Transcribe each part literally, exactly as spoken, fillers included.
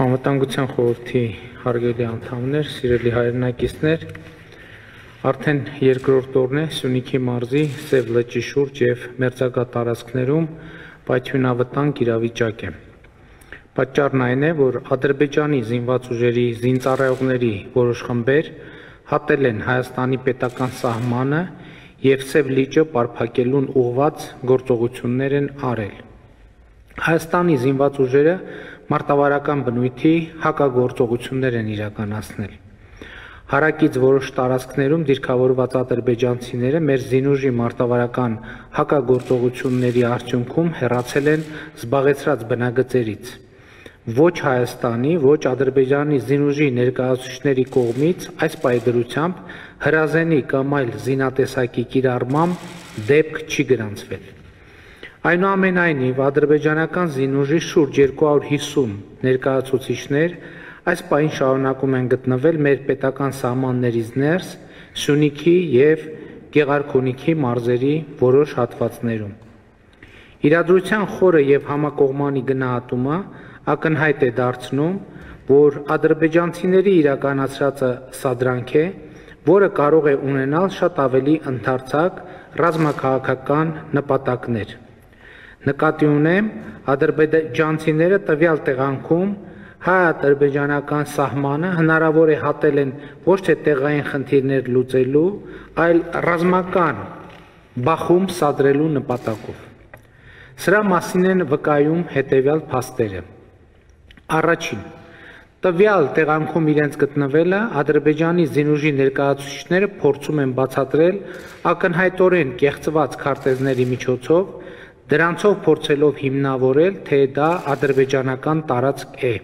Անվտանգության խորհրդի հարգելի անդամներ, սիրելի հայրենակիցներ, արդեն երկրորդ օրն է Սյունիքի մարզի Սև լճի շուրջ և մերձակա տարածքներում պայթյունավտանգ իրավիճակ է։ Պատճառն այն է, որ Ադրբեջանի զինված ուժերի զինծառայողների որոշ խմբեր հատել են Հայաստանի պետական սահմանը և Սև լիճը պարփակելուն ուղղված գործողություններ են արել։ Հայաստանի զինված ուժերը մարտավարական բնույթի հակագործողություններ են իրականացնել։ Հարակից որոշ տարածքներում դիրքավորված ադրբեջանցիները մեր զինուժի մարտավարական հակագործողությունների արդյունքում հեռացել են զբաղեցրած բնագծերից։ Ոչ Հայաստանի, ոչ Ադրբեջանի զինուժի ներկայացուցիչների կողմից այս պայդրությամբ հրազենի կամ այլ զինատեսակի կիրառմամբ դեպք չի գրանցվել։ Այնուամենայնիվ, ադրբեջանական զինուժի շուրջ երկու հարյուր հիսուն ներկայացուցիչներ այս պահին շարունակում են գտնվել մեր պետական սահմաններից ներս Սյունիքի և Գեղարքունիքի մարզերի որոշ հատվածներում։ Իրադրության խորը և համակողմանի գնահատումը ակնհայտ է դարձնում, որ ադրբեջանցիների իրականացրածը սադրանք է, որը կարող է ունենալ շատ ավելի ընդարձակ ռազմաքաղաքական նպատակներ։ Նկատի ունեմ, ադրբեջանցիները տվյալ տեղանքում հայ-ադրբեջանական սահմանը հնարավոր է հատել են ոչ թե տեղային խնդիրներ լուծելու, այլ ռազմական բախում սադրելու նպատակով։ Սրա մասին են վկայում հետևյալ փաստերը։ Առաջին, տվյալ տեղանքում իրենց գտնվելը Ադրբեջանի զինուժի ներկայացուցիչները փորձում են բացատրել ակնհայտորեն կեղծված քարտեզների միջոցով, դրանցով փորձելով հիմնավորել, թե դա ադրբեջանական տարածք է։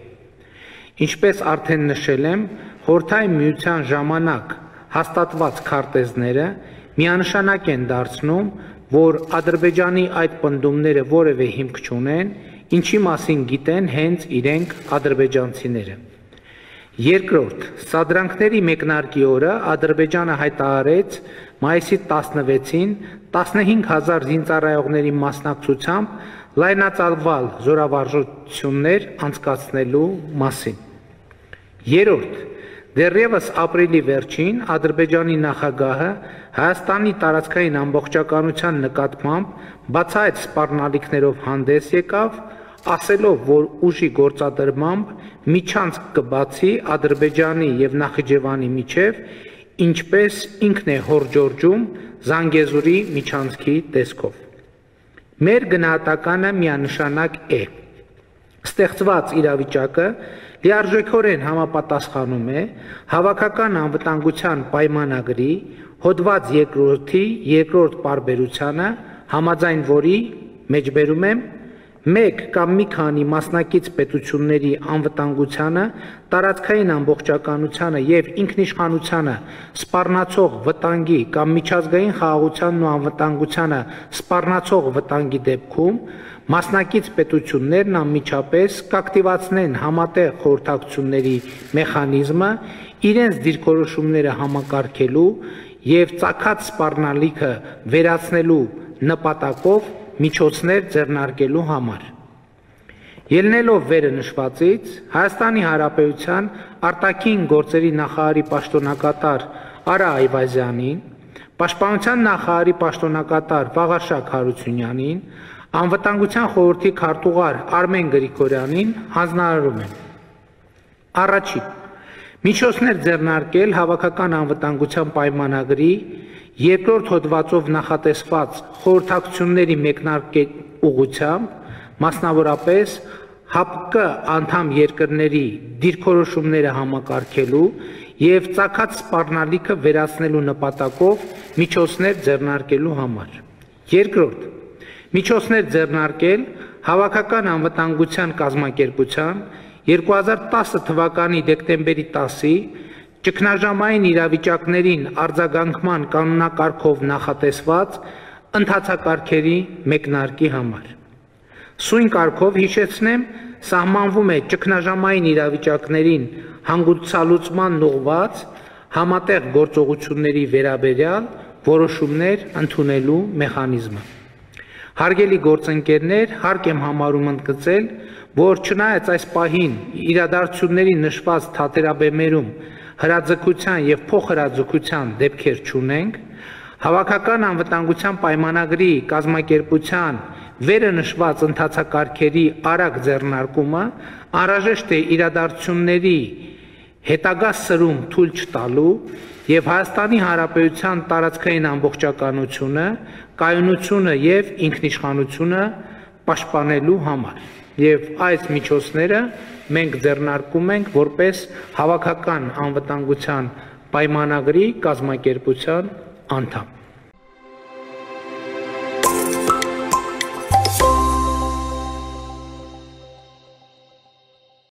Ինչպես արդեն նշել եմ, Խորհրդային Միության ժամանակ հաստատված քարտեզները միանշանակ են դարձնում, որ Ադրբեջանի այդ պնդումները որևէ հիմք չունեն, ինչի մասին գիտեն հենց իրենք ադրբեջանցիները։ Երկրորդ, սադրանքների մեկնարկի օրը Ադրբեջանը հայտարարեց մայիսի տասնվեցին տասնհինգ հազար զինծառայողների մասնակցությամբ լայնածավալ զորավարժություններ անցկացնելու մասին։ Երրորդ, դեռևս ապրիլի վերջին Ադրբեջանի նախագահը Հայաստանի տարածքային ամբողջականության նկատմամբ բացահայտ սպառնալիքներով հանդես եկավ, ասելով, որ ուժի գործադրմամբ միջանցք կբացի Ադրբեջանի և Նախիջևանի միջև, ինչպես ինքն է հորդորում Զանգեզուրի միջանցքի տեսքով։ Մեր գնահատականը միանշանակ է։ Ստեղծված իրավիճակը լիարժեքորեն համապատասխանում է Հավաքական անվտանգության պայմանագրի հոդված երկրորդի երկրորդ պարբերությանը, համաձայն որի մեջբերում եմ մեկ կամ մի քանի մասնակից պետությունների անվտանգությանը, տարածքային ամբողջականությանը և ինքնիշխանությանը սպառնացող վտանգի կամ միջազգային խաղաղությանն ու անվտանգությանը սպառնացող վտանգի դեպքում մասնակից պետություններն անմիջապես կակտիվացնեն համատեղ խորհրդակցությունների մեխանիզմը իրենց դիրքորոշումները համակարգելու և ծագած սպառնալիքը վերացնելու նպատակով միջոցներ ձեռնարկելու համար։ Ելնելով վերը նշվածից, Հայաստանի Հանրապետության արտաքին գործերի նախարարի պաշտոնակատար Արա Այվազյանին, Պաշտպանության նախարարի պաշտոնակատար Վաղարշակ Հարությունյանին, Անվտանգության խորհրդի քարտուղար Արմեն Գրիգորյանին հանձնարարում եմ. Առաջին, միջոցներ ձեռնարկել Հավաքական անվտանգության պայմանագրի երկրորդ հոդվածով նախատեսված խորհրդակցությունների մեկնարկի ուղղությամբ, մասնավորապես ՀԱՊԿ անդամ երկրների դիրքորոշումները համակարգելու և ծագած սպառնալիքը վերացնելու նպատակով միջոցներ ձեռնարկելու համար։ Երկրորդ, միջոցներ ձեռնարկել Հավաքական անվտանգության կազմակերպության երկու հազար տասը թվականի դեկտեմբերի տասի ճգնաժամային իրավիճակներին արձագանքման կանոնակարգով նախատեսված ընթացակարգերի մեկնարկի համար։ Սույն կարգով հիշեցնեմ, սահմանվում է ճգնաժամային իրավիճակներին հանգուցալուծմանն ուղղված համատեղ գործողությունների վերաբերյալ որոշումներ ընդունելու մեխանիզմը։ Հարգելի գործընկերներ, հարկ եմ համարում ընդգծել, որ չնայած այս պահին իրադարձությունների նշված թատերաբեմերում հրաձգության եւ փոխհրաձգության դեպքեր չունենք, Հավաքական անվտանգության պայմանագրի կազմակերպության վերը նշված ընթացակարգերի արագ ձեռնարկումը անհրաժեշտ է իրադարձությունների հետագա սրում թույլ չտալու եւ Հայաստանի Հանրապետության տարածքային ամբողջականությունը, կայունությունը եւ ինքնիշխանությունը պաշտպանելու համար։ Եվ այս միջոցները մենք ձեռնարկում ենք որպես Հավաքական անվտանգության պայմանագրի կազմակերպության անդամ։